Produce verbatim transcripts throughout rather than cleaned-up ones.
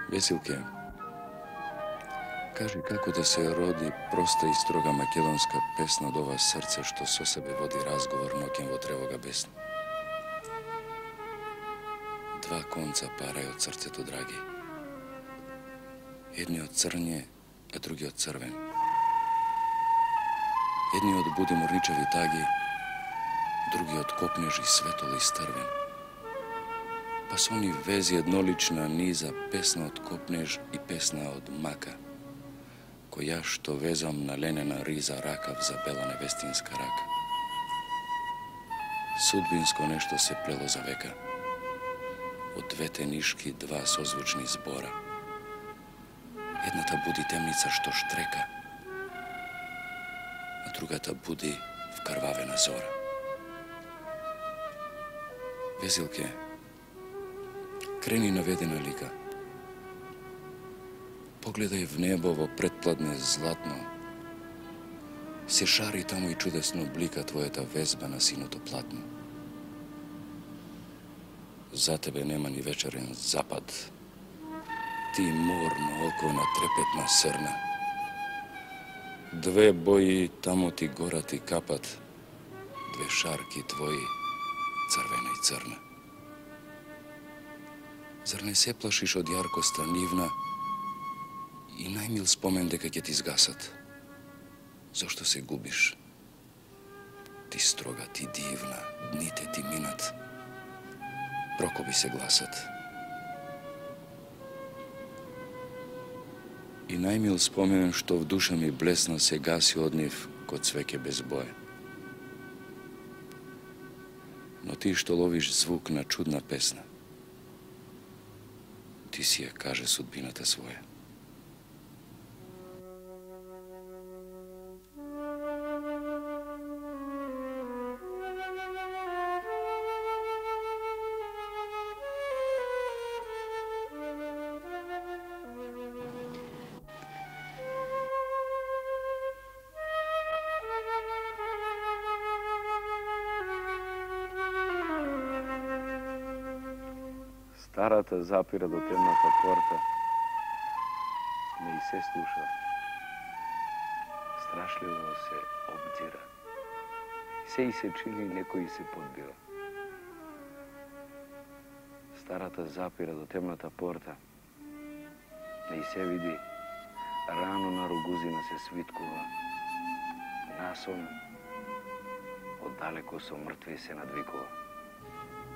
Весилке, кажи како да се роди проста и строга македонска песна од ова срце што со себе води разговор ноќен во тревога бесна. Два конца парај од срцето, драги. Едниот црње, а другиот црвен. Едниот буди морничеви таги, другиот копнеж и светол и стрвен. Па со они вези еднолична низа, песна од копнеж и песна од мака, која што везам на ленена риза ракав за бела невестинска рака. Судбинско нешто се плело за века, од двете нишки два созвучни збора. Едната буди темница што штрека, а другата буди вкрвавена зора. Везилке, крени наведена лика. Погледај в небо во предпладне златно. Се шари таму и чудесно блика твојата везба на синото платно. За тебе нема ни вечерен запад. Ти морно око на трепетна срна. Две бои таму ти гора ти капат, две шарки твои, црвена и црна. Зар не се плашиш од јаркоста нивна и најмил спомен дека ќе ти згасат? Зошто се губиш? Ти строга, ти дивна, дните ти минат, прокоби се гласат. И најмил спомен што в душа ми блесна се гаси од нив ко цвеќе без боја. Но ти што ловиш звук на чудна песна, ти си ја каже судбината своја. Старата запира до темната порта, не и се слуша. Страшливо се обдира. Се и се чини некој се подбира. Старата запира до темната порта, не и се види. Рано на ругузина се свиткува. Насон оддалеко со мртви се надвикува.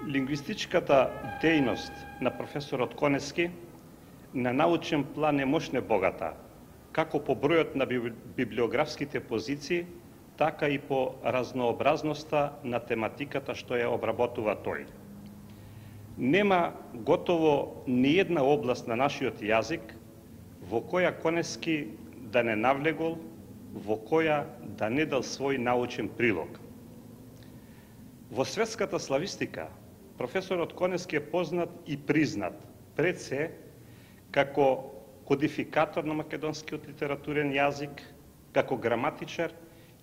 Лингвистичката дејност на професорот Конески на научен план е мощно богата, како по бројот на библиографските позиции, така и по разнообразноста на тематиката што ја обработува тој. Нема готово ни една област на нашиот јазик во која Конески да не навлегол, во која да не дал свој научен прилог. Во светската славистика професорот Конески е познат и признат пред се како кодификатор на македонскиот литературен јазик, како граматичар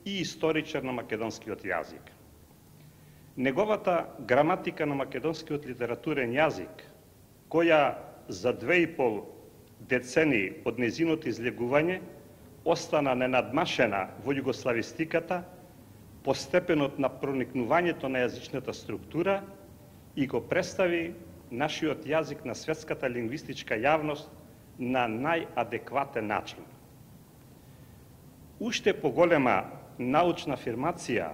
и историчар на македонскиот јазик. Неговата граматика на македонскиот литературен јазик, која за две и пол децении од незиното излегување остана ненадмашена во југославистиката по степенот на проникнувањето на јазичната структура и го представи нашиот јазик на светската лингвистичка јавност на најадекватен начин. Уште поголема научна афирмација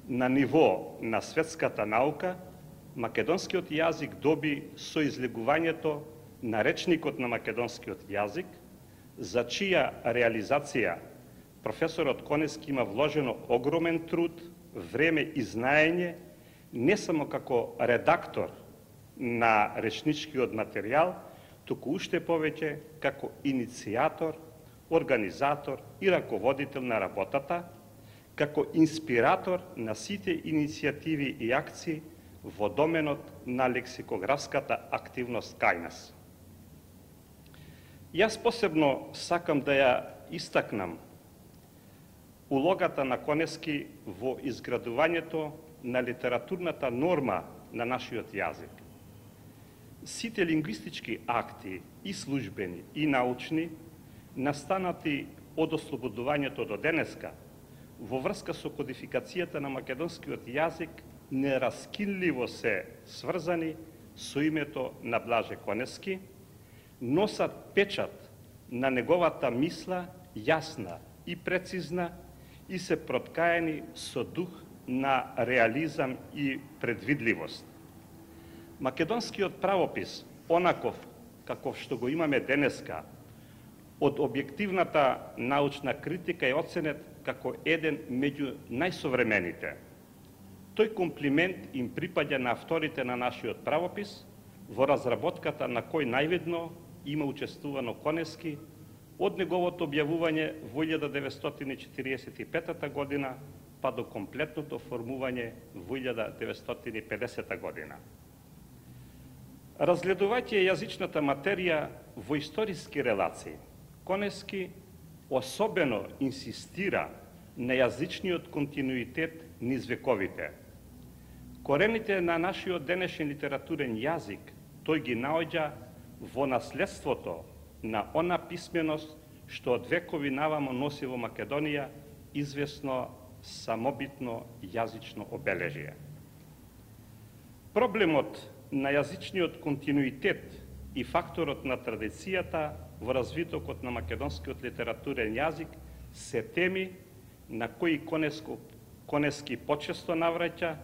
на ниво на светската наука, македонскиот јазик доби со излегувањето на речникот на македонскиот јазик, за чија реализација професорот Конески има вложено огромен труд, време и знаење, не само како редактор на речничкиот материјал, туку уште повеќе како иницијатор, организатор и раководител на работата, како инспиратор на сите иницијативи и акции во доменот на лексикографската активност кај нас. Јас посебно сакам да ја истакнам улогата на Конески во изградувањето на литературната норма на нашиот јазик. Сите лингвистички акти, и службени, и научни, настанати од ослободувањето до денеска, во врска со кодификацијата на македонскиот јазик, нераскинливо се сврзани со името на Блаже Конески, носат печат на неговата мисла јасна и прецизна и се проткаени со дух на реализам и предвидливост. Македонскиот правопис, онаков каков што го имаме денеска, од објективната научна критика е оценет како еден меѓу најсовремените. Тој комплимент им припаѓа на авторите на нашиот правопис, во разработката на кој највидно има учествувано Конески од неговото објавување во илјада деветстотини и четириесет и петата година па до комплетното формување во илјада деветстотини и педесета година. Разгледувајќи јазичната материја во историски релации, Конески особено инсистира на јазичниот континуитет низ вековите. Корените на нашиот денешен литературен јазик тој ги наоѓа во наследството на она писменост што од векови навамо носи во Македонија известно самобитно јазично обележие. Проблемот на јазичниот континуитет и факторот на традицијата во развитокот на македонскиот литературен јазик се теми на кои Конеско, Конески почесто навраќа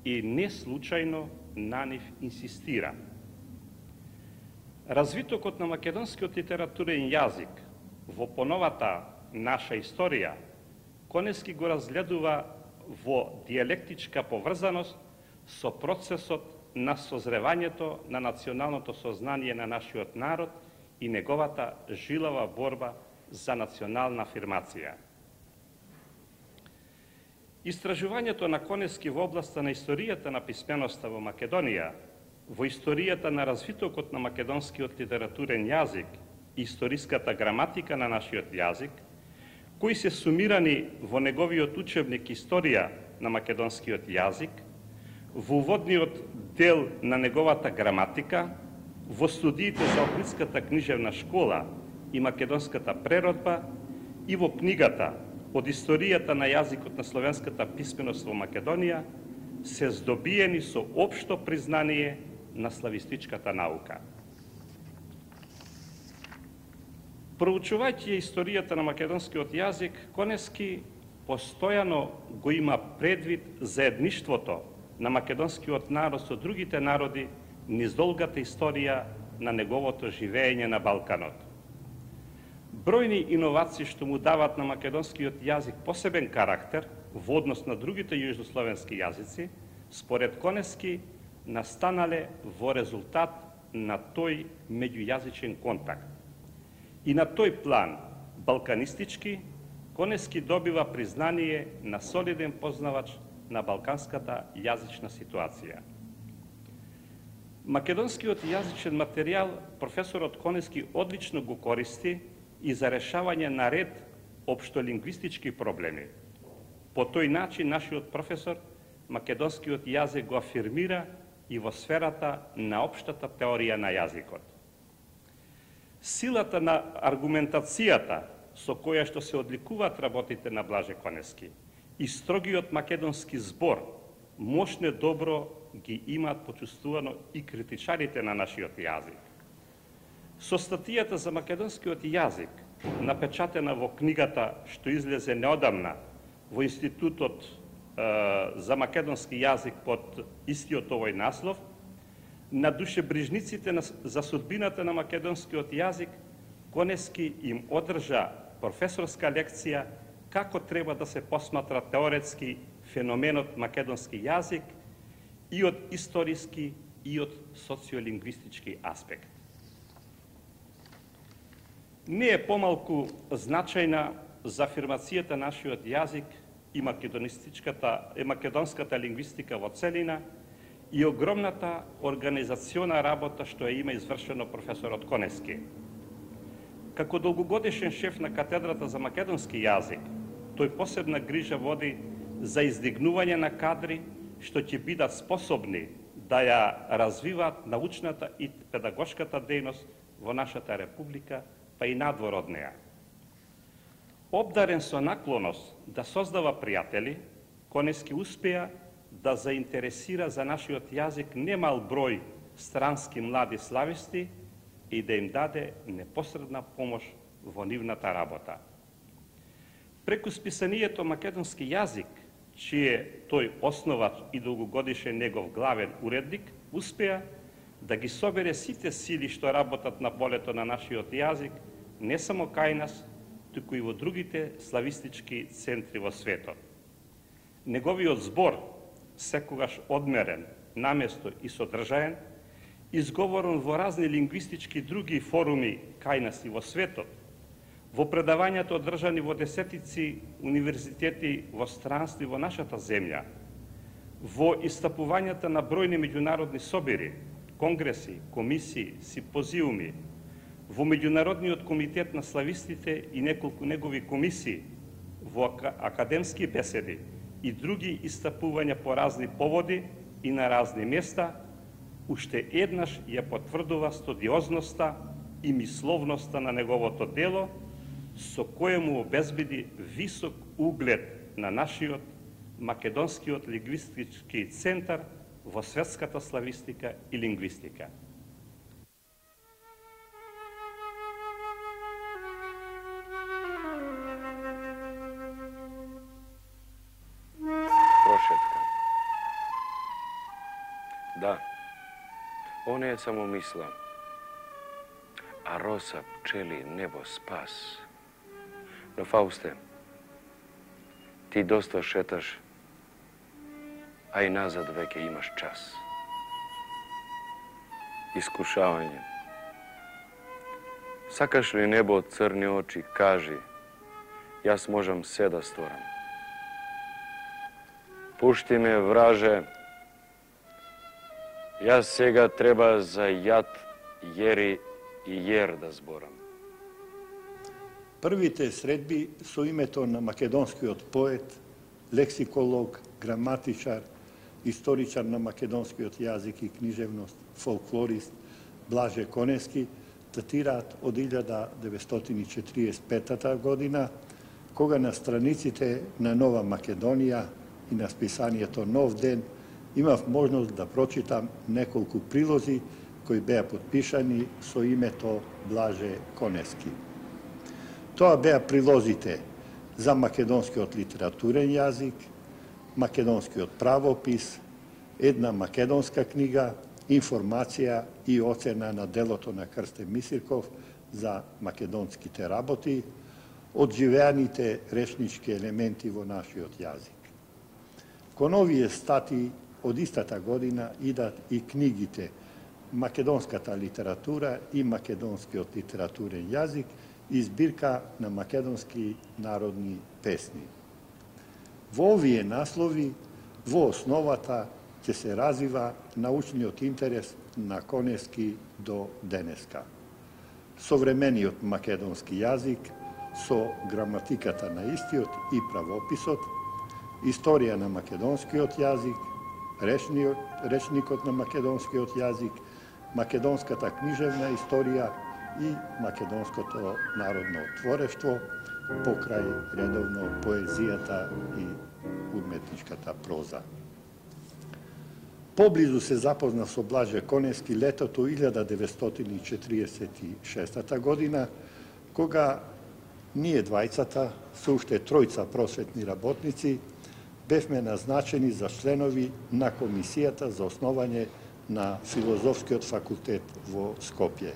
и не случајно на нив инсистира. Развитокот на македонскиот литературен јазик во поновата наша историја, Конески го разгледува во дијалектичка поврзаност со процесот на созревањето на националното сознание на нашиот народ и неговата жилава борба за национална афирмација. Истражувањето на Конески во областа на историјата на писменоста во Македонија, во историјата на развитокот на македонскиот литературен јазик и историската граматика на нашиот јазик, кои се сумирани во неговиот учебник Историја на македонскиот јазик, во уводниот дел на неговата граматика, во студиите за Охридската книжевна школа и македонската преродба и во книгата од историјата на јазикот на словенската писменост во Македонија, се здобиени со општо признание на славистичката наука. Проучувајќи историјата на македонскиот јазик, Конески постојано го има предвид заедништвото на македонскиот народ со другите народи низ долгата историја на неговото живење на Балканот. Бројни иновации што му дават на македонскиот јазик посебен карактер во однос на другите јужнословенски јазици, според Конески настанале во резултат на тој меѓујазичен контакт. И на тој план, балканистички, Конески добива признание на солиден познавач на балканската јазична ситуација. Македонскиот јазичен материјал професорот Конески одлично го користи и за решавање на ред општолингвистички проблеми. По тој начин нашиот професор македонскиот јазик го афирмира и во сферата на општата теорија на јазикот. Силата на аргументацијата со која што се одликуваат работите на Блаже Конески и строгиот македонски збор мошне добро ги имаат почувствувано и критичарите на нашиот јазик. Со статијата за македонскиот јазик, напечатена во книгата што излезе неодамна во Институтот е, за македонски јазик под истиот овој наслов, на душебрижниците за судбината на македонскиот јазик, Конески им одржа професорска лекција како треба да се посматра теоретски феноменот македонски јазик и од историски и од социолингвистички аспект. Не е помалку значајна за афирмацијата нашиот јазик и македонистичката и македонската лингвистика во целина и огромната организациона работа што ја има извршено професорот Конески. Како долгогодишен шеф на катедрата за македонски јазик, тој посебна грижа води за издигнување на кадри што ќе бидат способни да ја развиваат научната и педагошката дејност во нашата република, па и надвор од неа. Обдарен со наклоност да создава пријатели, Конески успеа да заинтересира за нашиот јазик немал број странски млади слависти и да им даде непосредна помош во нивната работа. Преку списанието македонски јазик, чие тој основач и долгогодишен негов главен уредник, успеа да ги собере сите сили што работат на полето на нашиот јазик, не само кај нас, туку и во другите славистички центри во светот. Неговиот збор, секогаш одмерен, наместо и содржаен, изговорен во разни лингвистички други форуми кај нас и во светот, во предавањата одржани во десетици универзитети во странство и во нашата земја, во истапувањата на бројни меѓународни собери, конгреси, комисии, симпозиуми, во Меѓународниот комитет на славистите и неколку негови комисии, во академски беседи и други истапувања по разни поводи и на разни места, уште еднаш ја потврдува студиозноста и мисловноста на неговото дело, со кое му обезбеди висок углед на нашиот македонскиот лингвистички центар во светската славистика и лингвистика. Прошетка. Да, он е само мисла, а роса, пчели, небо, спас. Но, Фаусте, ти доста шеташ, а и назад веќе имаш час. Искушавање. Сакаш ли небо од црни очи, кажи, јас можам се да сторам. Пушти ме, враже, јас сега треба за јад, јери и јер да зборам. Првите средби со името на македонскиот поет, лексиколог, граматичар, историчар на македонскиот јазик и книжевност, фолклорист Блаже Конески датираат од илјада деветстотини четириесет и пета година, кога на страниците на Нова Македонија и на списанието Нов ден имав можност да прочитам неколку прилози кои беа подпишани со името Блаже Конески. Тоа беа прилозите за македонскиот литературен јазик, македонскиот правопис, една македонска книга, информација и оцена на делото на Крстен Мисирков за македонските работи, одживеаните речнички елементи во нашиот јазик. Кон овие стати од истата година идат и книгите Македонската литература и македонскиот литературен јазик и збирка на македонски народни песни. Во овие наслови, во основата, ќе се развива научниот интерес на Конески до денеска. Современиот македонски јазик со граматиката на истиот и правописот, историја на македонскиот јазик, речниот, речникот на македонскиот јазик, македонската книжевна историја и македонското народно творештво, покрај редовно поезијата и уметничката проза. Поблизу се запозна со Блаже Конески летото илјада деветстотини четириесет и шеста година, кога ние двајцата, со уште тројца просветни работници, бевме назначени за членови на Комисијата за основање на Филозофскиот факултет во Скопје.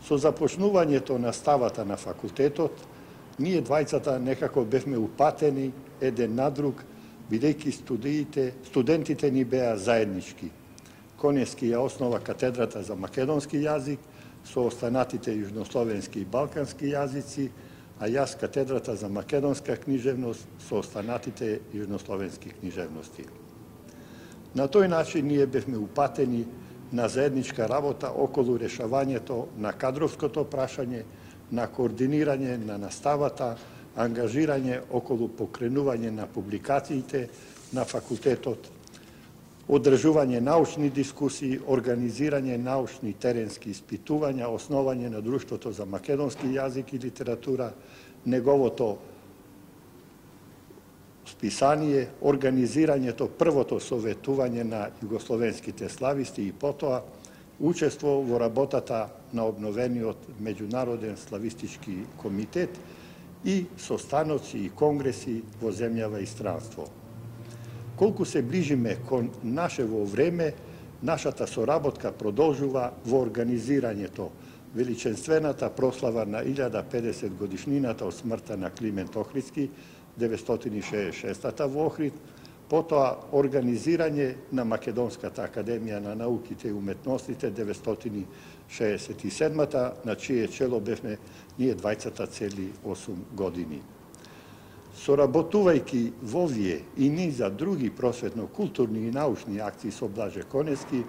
Со започнувањето на ставата на факултетот, ние двајцата некако бевме упатени еден на друг, бидејќи студиите, студентите ни беа заеднички. Конески ја основа катедрата за македонски јазик со останатите јужнословенски и балкански јазици, а јас катедрата за македонска книжевност со останатите јужнословенски книжевности. На тој начин ние бевме упатени на заедничка работа околу решавањето на кадровското прашање, на координирање на наставата, ангажирање околу покренување на публикациите на факултетот, одржување научни дискусии, организирање научни теренски испитувања, основање на Друштвото за македонски јазик и литература, неговото списание, организирањето првото советување на југословенските слависти и потоа учество во работата на обновениот Меѓународен славистички комитет и состаноци и конгреси во земјава и странство. Колку се ближиме кон нашево време, нашата соработка продолжува во организирањето величенствената прослава на илјада педесет годишнината од смртта на Климент Охридски, деветстотини шеесет и шеста во Охрид, потоа организирање на Македонската академија на науките и уметностите деветстотини шеесет и седма, на чие чело бевме ние двајцата цели осум години. Соработувајќи во овие и низа други просветно-културни и научни акции со Блаже Конески,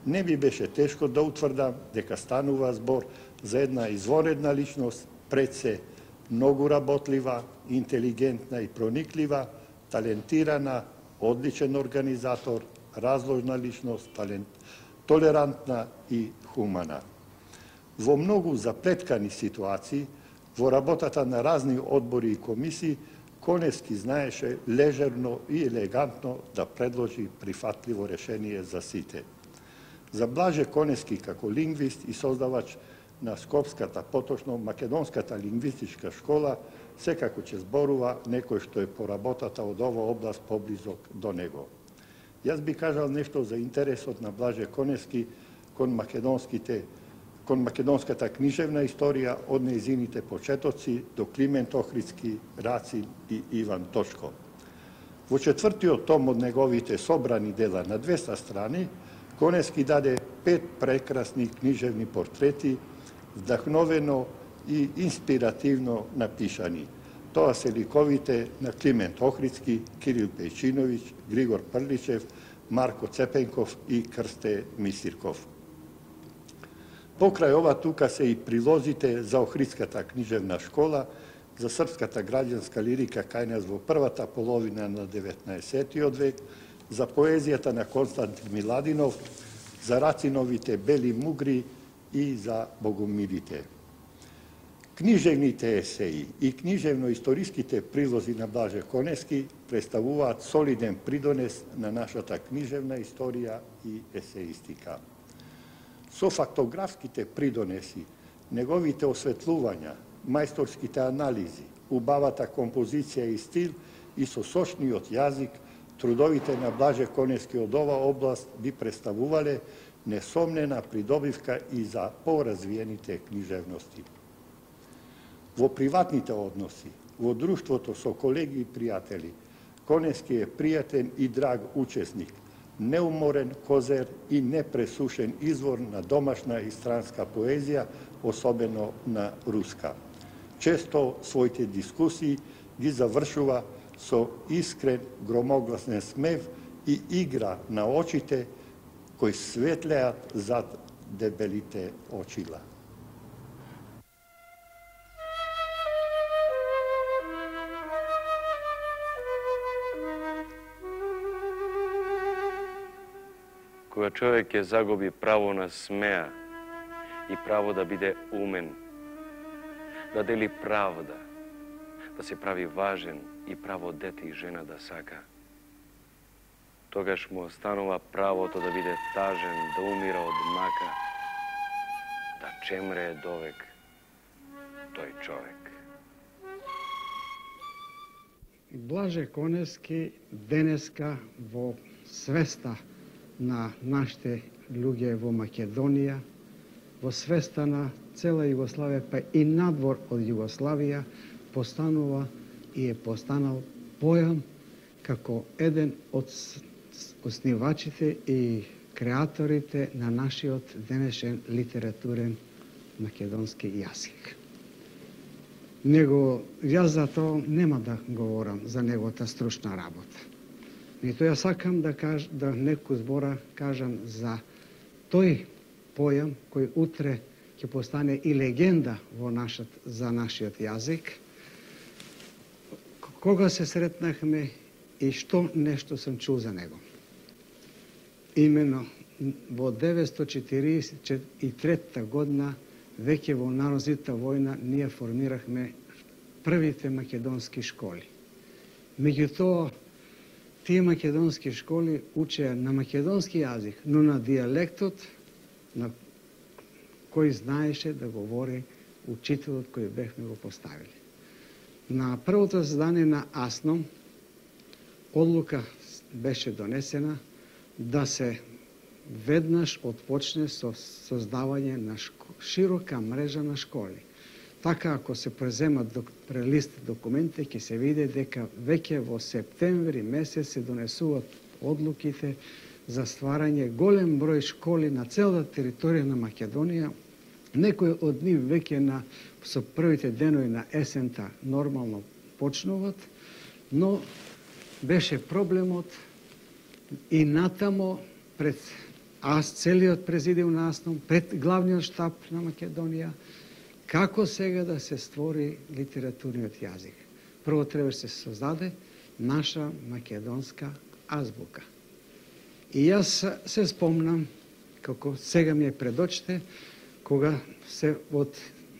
не ми беше тешко да утврдам дека станува збор за една извонредна личност, пред се многу работлива, интелигентна и прониклива, талентирана, одличен организатор, разложна личност, талент, толерантна и хумана. Во многу заплеткани ситуации, во работата на разни одбори и комисии, Конески знаеше лежерно и елегантно да предложи прифатливо решение за сите. За Блаже Конески како лингвист и создавач на Скопската, поточно Македонската лингвистичка школа, секако ќе зборува некој што е по работата од ова област поблизок до него. Јас би кажал нешто за интересот на Блаже Конески кон македонските кон македонската книжевна историја од нејзините почетоци до Климент Охридски, Рацин и Иван Точко. Во четвртиот том од неговите собрани дела на двеста страни, Конески даде пет прекрасни книжевни портрети, вдахновено и инспиративно напишани. Тоа се ликовите на Климент Охридски, Кирил Пејчиновиќ, Григор Прличев, Марко Цепенков и Крсте Мисирков. Покрај ова тука се и прилозите за Охридската книжевна школа, за српската граѓанска лирика кај нас во првата половина на деветнаесеттиот век, за поезијата на Константин Миладинов, за Рациновите бели мугри и за богомилите. Книжевните есеи и книжевно-историските прилози на Блаже Конески представуваат солиден придонес на нашата книжевна историја и есеистика. Со фактографските придонеси, неговите осветлувања, мајсторските анализи, убавата композиција и стил и со сочниот јазик, трудовите на Блаже Конески од ова област би представувале несомнена придобивка и за поразвиените книжевности. Во приватните односи, во друштвото со колеги и пријатели, Конески е пријатен и драг учесник, неуморен козер и непресушен извор на домашна и странска поезија, особено на руска. Често своите дискусии ги завршува со искрен, громогласен смев и игра на очите кои светлеат зад дебелите очила. Кога човек ќе загуби право на смеа и право да биде умен, да дели правда, да се прави важен и право дете и жена да сака, тогаш му останува правото да биде тажен, да умира од мака, да чемре довек тој човек. Блаже Конески денеска во свеста на нашите луѓе во Македонија, во свеста на цела Југославија, па и надвор од Југославија, постанува и е постанал појам како еден од основачите и креаторите на нашиот денешен литературен македонски јазик. Него, јас за тоа нема да говорам за неговата стручна работа. Меѓутоа ја сакам да каж, да некој збора кажам за тој појам кој утре ќе постане и легенда во нашат, за нашиот јазик. Кога се сретнахме и што нешто сум чул за него. имено во деветстотини четиридесет и трета година, веќе во Народната војна, ние формирахме првите македонски школи. Меѓутоа, тие македонски школи учеа на македонски јазик, но на дијалектот на кој знаеше да говори учителот кој бехме го поставили. На првото заседание на АСНОМ одлука беше донесена да се веднаш отпочне со создавање на широка мрежа на школи. Така, ако се преземат прелист документи, ќе се види дека веќе во септември месец се донесуваат одлуките за стварање голем број школи на целата територија на Македонија. Некои од нив веќе на со првите денови на есента нормално почнуваат, но беше проблемот и натамо пред аз целиот президиум на АСНОМ, пред главниот штаб на Македонија, како сега да се створи литературниот јазик. Прво требаше да се создаде наша македонска азбука. И јас се спомнам, како сега ми е пред очите, кога се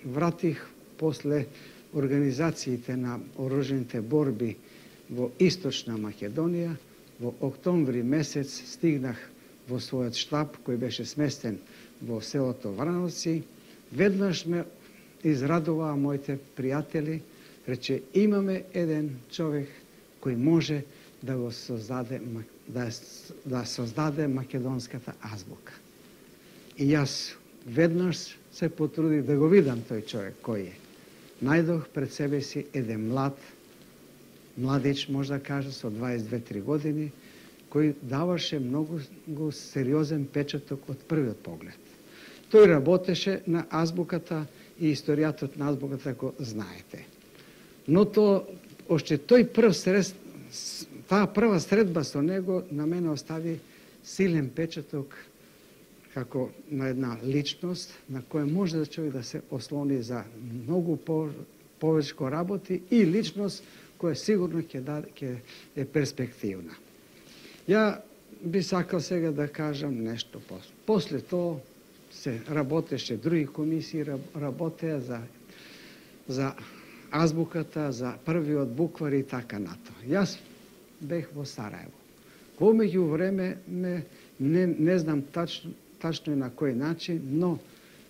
вратих после организациите на оружените борби во Источна Македонија, во октомври месец стигнах во својот штаб, кој беше сместен во селото Врановци. Веднаш ме израдуваа моите пријатели, рече, имаме еден човек кој може да го создаде, да, да создаде македонската азбука. И јас веднаш се потрудих да го видам тој човек кој е. Најдох пред себе си еден млад, младич, може да кажа, со дваесет и две-три години, кој даваше многу сериозен печаток од првиот поглед. Тој работеше на азбуката и историјатот на азбуката, го знаете. Но то, още тој прв сред, таа прва средба со него на мене остави силен печаток како на една личност на која може да човек да се ослони за многу по, повечко работи и личност која сигурно ќе да, ќе е перспективна. Ја би сакал сега да кажам нешто после. После тоа се работеше други комисии, работеа за, за азбуката, за првиот буквар и така нато. Јас бех во Сараево. Во меѓу време ме, не, не знам тачно, тачно на кој начин, но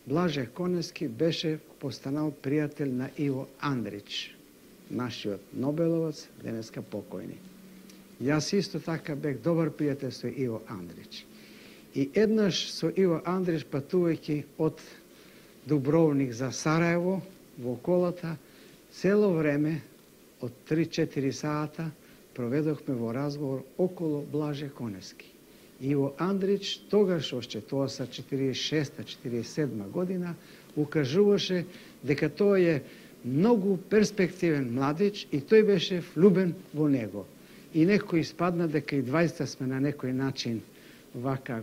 Блаже Конески беше постанал пријател на Иво Андрич, нашиот Нобеловец, денеска покојни. Јас исто така бех добар пријател со Иво Андрич. И еднаш со Иво Андрич, патувајќи од Дубровник за Сараево во колата, цело време од три-четири сата проведохме во разговор около Блаже Конески. Иво Андрич тогаш, още тоа са четиридесет и шеста четиридесет и седма година, укажуваше дека тој е многу перспективен младич и тој беше влюбен во него. И некој испадна дека и двајста сме на некој начин вака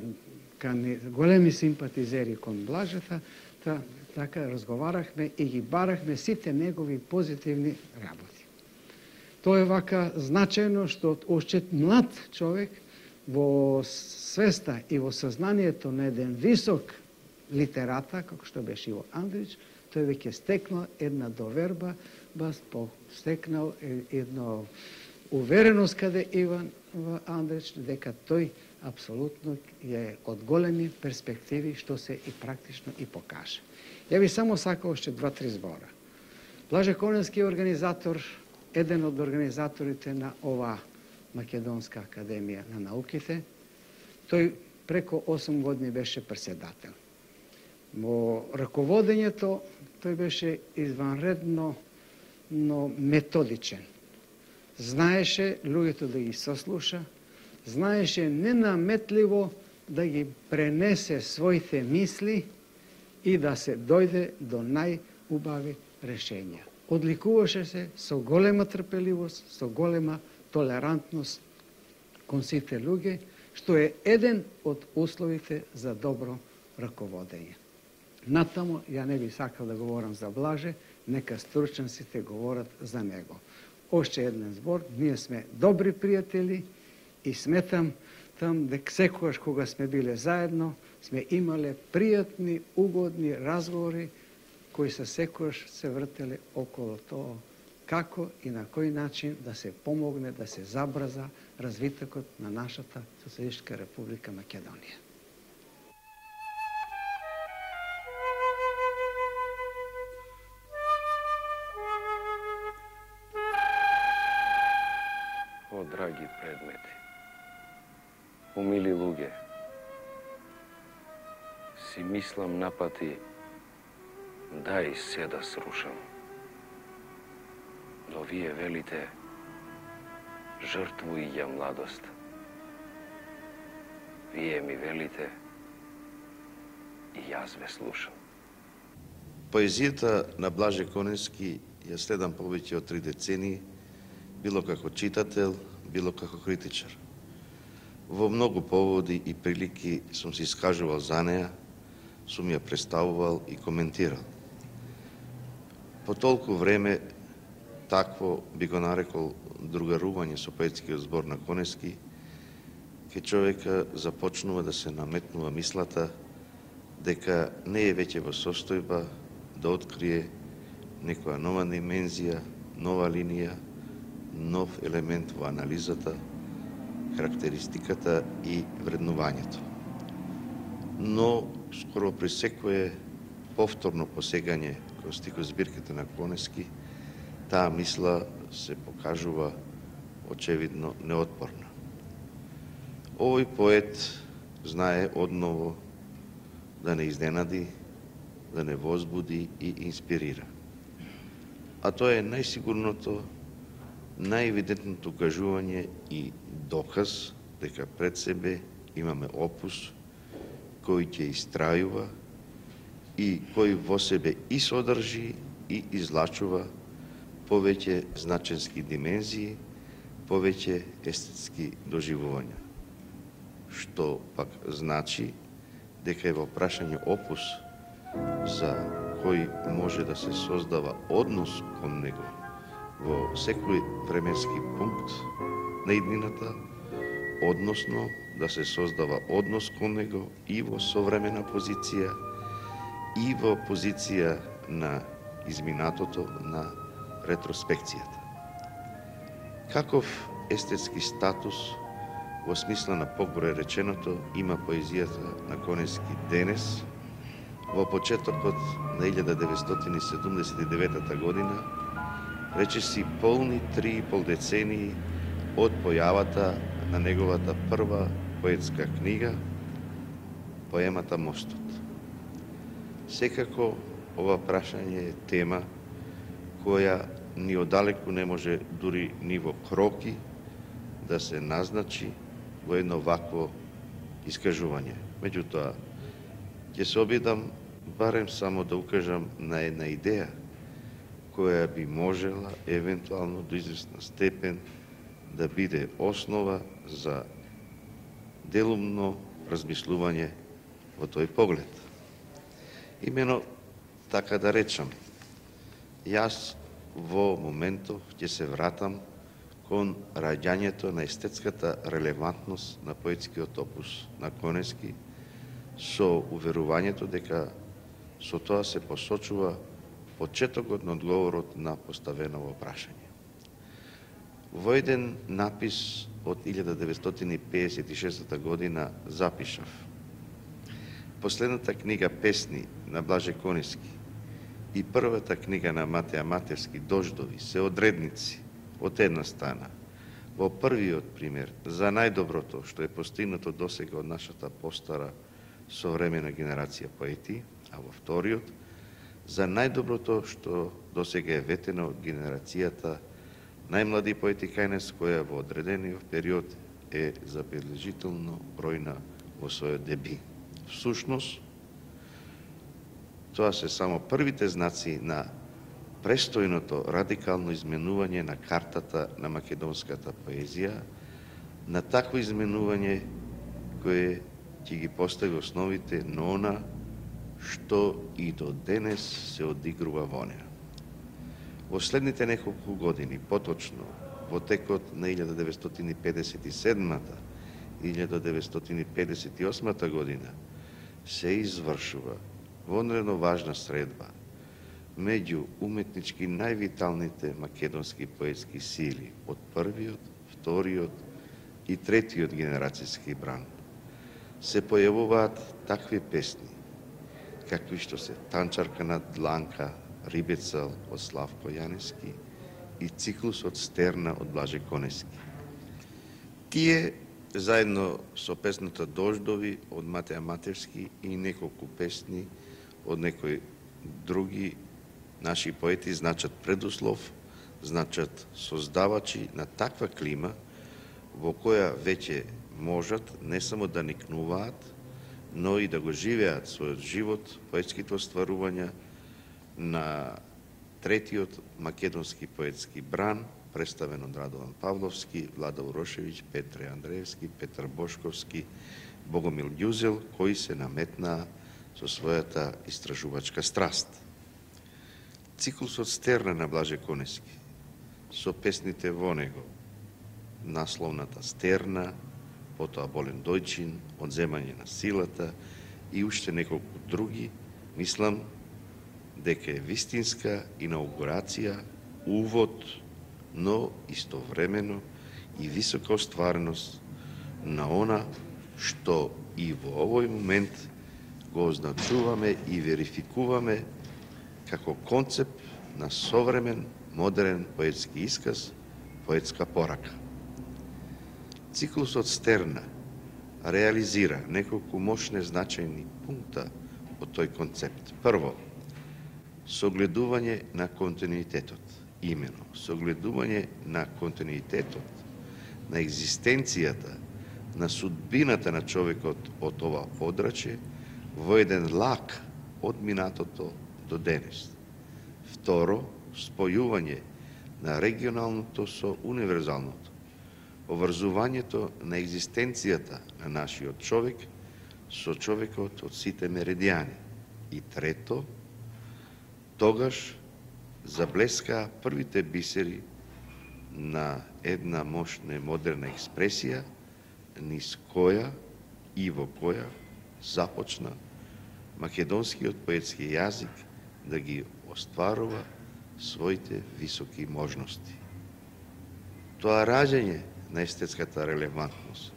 големи симпатизери кон Блажата, та, така разговарахме и ги барахме сите негови позитивни работи. Тоа е вака значајно што още млад човек во свеста и во сознанието на еден висок литерата, како што беше Иво Андрич, тој веќе стекнал една доверба, бас стекнал едно увереност каде Иван Андрич, дека тој апсолутно е од големи перспективи, што се и практично и покаже. Ја би само сакал още два-три збора. Блаже Конески е организатор, еден од организаторите на оваа Македонска академија на науките. Тој преко осум години беше председател. Во раководењето тој беше изванредно, но методичен. Знаеше луѓето да ги сослуша, знаеше ненаметливо да ги пренесе своите мисли и да се дојде до најубави решења. Одликуваше се со голема трпеливост, со голема толерантност кон сите луѓе, што е еден од условите за добро раководење. Натамо, ја не би сакал да говорам за Блаже, нека стручниците говорат за него. Още еден збор, ние сме добри пријатели и сметам там дека секогаш кога сме биле заедно, сме имале пријатни, угодни разговори кои се секогаш се вртеле околу тоа како и на кој начин да се помогне, да се забрза развитокот на нашата Социјалистичка република Македонија. О, драги предмети, умили луѓе, си мислам напати дај се да срушам. Но вие велите жртвуј ја младост. Вие ми велите и јас ве слушам. Поезијата на Блаже Конески ја следам повеќе од три децении, било како читател, било како критичар. Во многу поводи и прилики сум се искажувал за неа, сум ја представувал и коментирал. По толку време такво би го нарекол другарување со поетскиот збор на Конески, ке човека започнува да се наметнува мислата дека не е веќе во состојба да открие некоја нова димензија, нова линија, нов елемент во анализата, карактеристиката и вреднувањето. Но скоро при секое повторно посегање кон стихозбирките на Конески, таа мисла се покажува очевидно неотпорна. Овој поет знае одново да не изненади, да не возбуди и инспирира. А тоа е најсигурното, најевидентното кажување и доказ дека пред себе имаме опус кој ќе истрајува и кој во себе и содржи и излачува повеќе значенски димензии, повеќе естетски доживувања. Што пак значи дека е во прашање опус за кој може да се создава однос кон него во секој временски пункт на иднината, односно да се создава однос кон него и во современа позиција и во позиција на изминатото, на ретроспекцијата. Каков естетски статус во смисла на погоре реченото има поезијата на Конески денес, во почетокот на илјада деветстотини седумдесет и девета година, речиси полни три и пол децении од појавата на неговата прва поетска книга, поемата Мостот. Секако, ова прашање е тема која ни одалеку не може дури ни во кроки да се назначи во едно вакво искажување. Меѓутоа, ќе се обидам барем само да укажам на една идеја која би можела евентуално до известна степен да биде основа за делумно размислување во тој поглед. Имено, така да речам, јас во моментов ќе се вратам кон раѓањето на естетската релевантност на поетскиот опус на Конески со уверувањето дека со тоа се посочува почетокот на одговорот на поставеново прашање. Во еден напис од илјада деветстотини педесет и шеста година запишав: последната книга песни на Блаже Конески и првата книга на Матеја Матевски Дождови се одредници од една страна во првиот пример за најдоброто што е постигнато досега од нашата постара современа генерација поети, а во вториот за најдоброто што досега е ветено од генерацијата најмлади поети кај нас, која во одредениот период е забележително бројна во својот деби. Всушност, тоа се само првите знаци на престојното радикално изменување на картата на македонската поезија, на такво изменување кое ќе ги постави основите на она што и до денес се одигрува во неа. Во следните неколку години, поточно во текот на илјада деветстотини педесет и седма и илјада деветстотини педесет и осма година се извршува вонредно важна средба меѓу уметнички највиталните македонски поетски сили од првиот, вториот и третиот генерацијски бран. Се појавуваат такви песни, какви што се Танчарка на дланка, Рибецал од Славко Јанески и Циклусот Стерна од Блаже Конески. Тие, заедно со песната Дождови од Матеја Матевски и неколку песни од некои други наши поети, значат предуслов, значат создавачи на таква клима во која веќе можат не само да никнуваат, но и да го живеат својот живот, поетските остварувања на третиот македонски поетски бран, представен од Радован Павловски, Влада Урошевиќ, Петре Андреевски, Петар Бошковски, Богомил Ѓузел, кои се наметнаа со својата истражувачка страст. Циклусот Стерна на Блаже Конески, со песните во него, насловната Стерна, потоа Болен Дојчин, Одземање на силата и уште неколку други, мислам дека е вистинска инаугурација, увод, но истовремено и висока оствареност на она што и во овој момент го означуваме и верификуваме како концепт на современ, модерен поетски исказ, поетска порака. Циклусот Стерна реализира неколку мощни значајни пункта од тој концепт. Прво, согледување на континуитетот, имено согледување на континуитетот, на екзистенцијата, на судбината на човекот од ова подрачје во еден лак од минатото до денес. Второ, спојување на регионалното со универзалното, обврзувањето на екзистенцијата на нашиот човек со човекот од сите меридијани. И трето, тогаш заблескаа првите бисери на една мощна модерна експресија, низ која и во која започна македонскиот поетски јазик да ги остварува своите високи можности. Тоа раѓање на естетската релевантност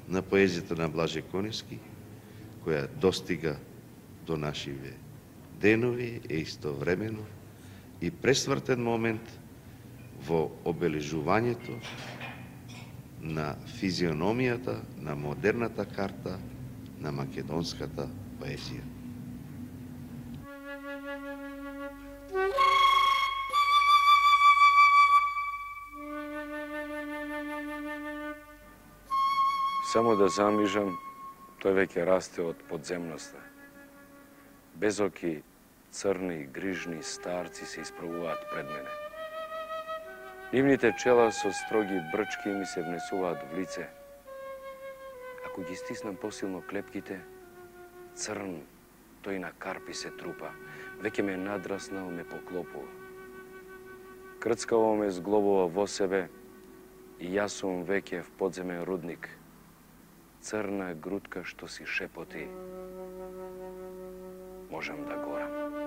на поезијата на Блаже Конески, која достига до нашиве денови, е истовремено и пресвртен момент во обележувањето на физиономијата на модерната карта на македонската поезија. Само да замижам, тој веќе расте од подземноста. Безоки, црни, грижни старци се исправуваат пред мене. Нивните чела со строги брчки ми се внесуваат в лице. Ако ги стиснам посилно клепките, црн, тој на карпи се трупа, веќе ме надраснал, ме поклопува. Крцкаво ме зглобува во себе и јас сум веќе в подземен рудник, црна грудка што си шепоти. Можам да горам.